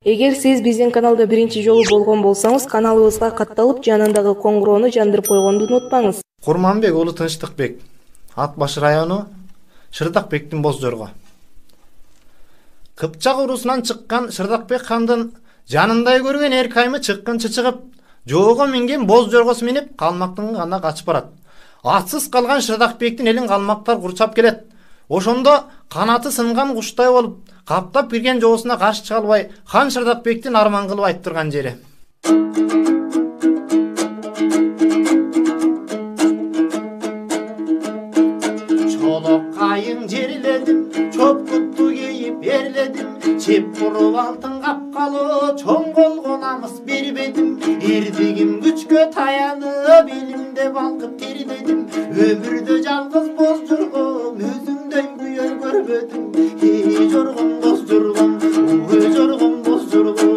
Эгер сиз биздин каналда биринчи жолу болгон болсоңуз, каналыбызга катталып, жанындагы коңгуроону жандырып койгонду унутпаңыз. Курманбек уулу Тынчтыкбек, Ат Баш району, Шырдакбектин Боздорго. Кыпчак урусунан чыккан Шырдакбек хандын жанындай көргөн эркайымы чыккынчы чыгып, жоого минген Боздоргосу минип, калмактын гана качып барат. Атсыз калган Шырдакбектин элин калмактар курчап келет. Ошондо канаты сынган куштай болуп, каптап кирген жоосуна каршы чыга албай, хан Шырдакбектин арман кылып айттырган жери. Чолок кайың жерледим, чопкутту кейип ерледим, чеп куруп алтын капкалы, чоң колго намыс бербедим, эрдигим күчкө таянып, илимде балкып тердедим, өмүрдө жалгыз Боздоргом, өзүмдөй күйөр көрбөдүм, жоргом Боздоргом, жоргом Боздоргом.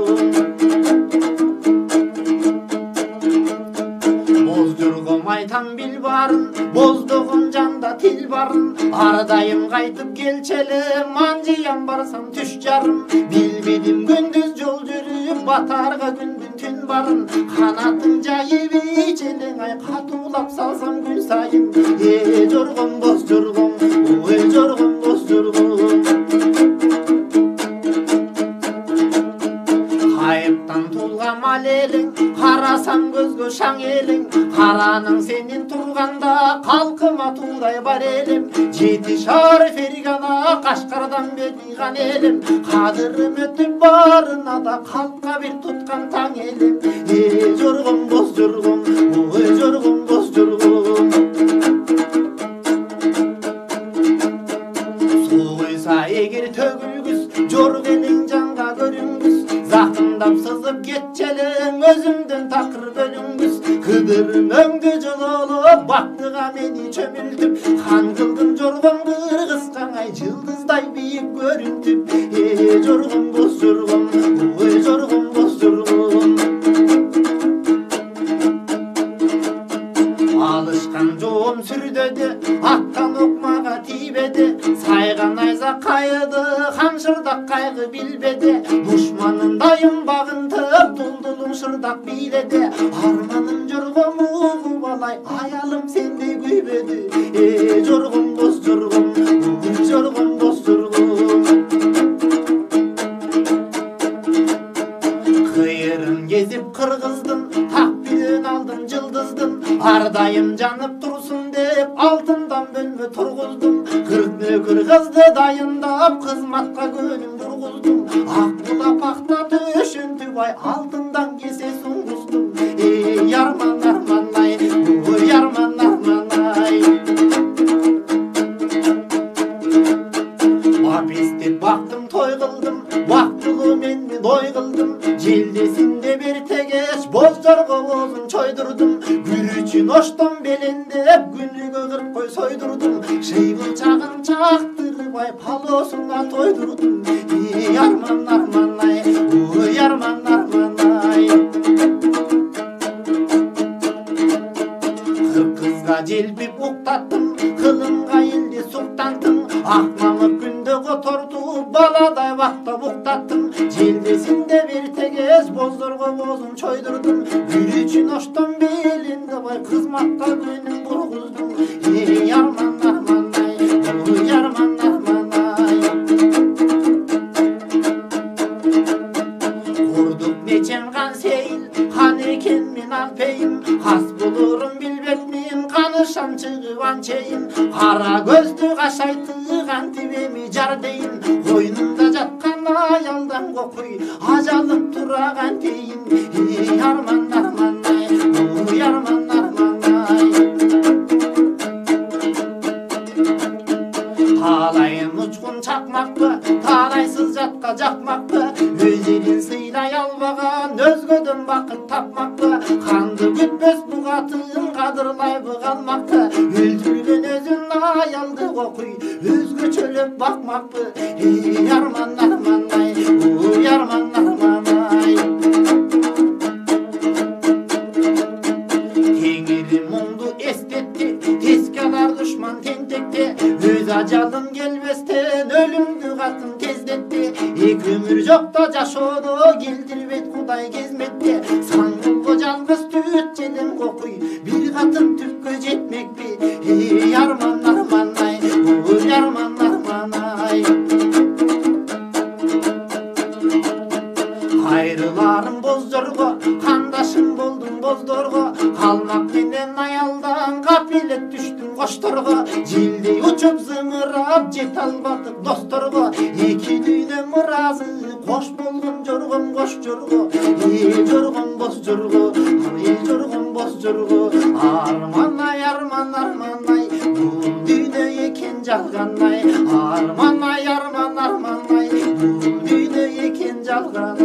Боздоргом айтам бил барын, боздогон жанда тил барын, ар дайым кайтып келчели, манжыям барсам түш жарым, билбедим күндүз жол жүрүп, батарга күндүн түн барын, канатын жайып ичелең ай катуулап салсам күн сайын, жоргом Боздоргом, жоргом Боздоргом. Кайыптан тулган мал элең, карасам көзгө шаң элең, караның сенин турганда калкыма туудай бар элем, жети шаар Фергана Кашкардан бедиган элем, кадырым өтүп барына да калкка бир туткан таң элем, жоргом Боздоргом, жоргом Боздоргом. Суу куйса эгер төгүлгүс, жорг элең жанга көрүнгүс, закындап сызып кетчелең, өзүмдөн такыр бөлүнгүс, кыдырым өңгө жололуп, бактыга мени чөмүлтүп, хан кылдым жоргом кыргызкаңай, жылдыздай бийик көрүнтүп, жоргом Боздоргом, жоргом Боздоргом. Алышкан жоом сүрдөдү, аттан окмага тийбеди, сайган айза кайыды, хан Шырдак кайгы билбеди, душманын дайым багынтып, дулдулум Шырдак бийледи, арманым жоргом угуп алай, аялым сендей күйбөдү, жоргом Боздоргом, жоргом Боздоргом. Кыйырын кезип кыргыздын, так билен алдым жылдыздын, ар дайым жанып турсун деп, алтындан бөлмө тургуздум, 40 нөкөр кызды дайындап, кызматка көнүм тургуздум, ак булап акта төшүнтүп ай, алтындан кесе суңгуздум, ярман арман ай, ярман арман ай. Бапестеп бактым той кылдым, бактылуу менин ой кылдым, желдесинде бир тегеш Боздорго боозун чойдурдум, күрүчүн оштон белендеп, күнүгө 40 кой сойдурдум, шыйбылчагын чактырып ай, палоосуна тойдурдум, ярман арман ай, ярман арман ай. Кызга желпип уктаттым, кылымга элди суктантым, ак мамык күндө котортуп, баладай бактап уктаттым, желдесинде бир тегеш Боздорго боозун чойдурдум, күрүчүн оштон белинде бай, кызматка көнүм бургуздум, ярман арман ай, ярман арман ай. Курдук нечен кан сейил, хан экен мен алпейим, кас болорун билбекмин, канышам чыгып анчейин, кара көздү кашайтты кантип эми жар дейин, койнумда жаткан аялдан кокуй, ажалып тураган тейин, ярман арман ай, ярман арман ай. Талайын учкун чакмакпы, талайсыз жатка жакмакпы, өз элин сыйлай албаган, өзгөдөн бакыт тапмакпы, канды күтпөс бу катын, кадырлайбы калмакты, өлтүргөн өзүн аялды кокуй, өзгөчөлөп бакмакпы, ярман арман ай, ярман арман ай. Теңири муңду кетти, өз ажалың келбестен өлүмдү катын тездетти. Эки өмүр жокто жашоону келтирбейт Кудай кезметте. Саңгылго жалгыз түт желем кокуй, бир катын түпкө жетмекпи. Эй арман арман ай, ой арман арман ай. Кайрыларым боздорго, кандашым болдум боздорго. Калмак менен аялдан капилет түштүм кошторго. Желдей учуп зымырап жете албадык досторго. Эки дүйнөм ыраазы, кош болгон жоргом кош жорго. Жоргом боз жорго, жоргом боз жорго. Арман ай арман арман ай, бул дүйнө экен жалган ай. Арман ай арман арман ай, бул дүйнө экен жалган.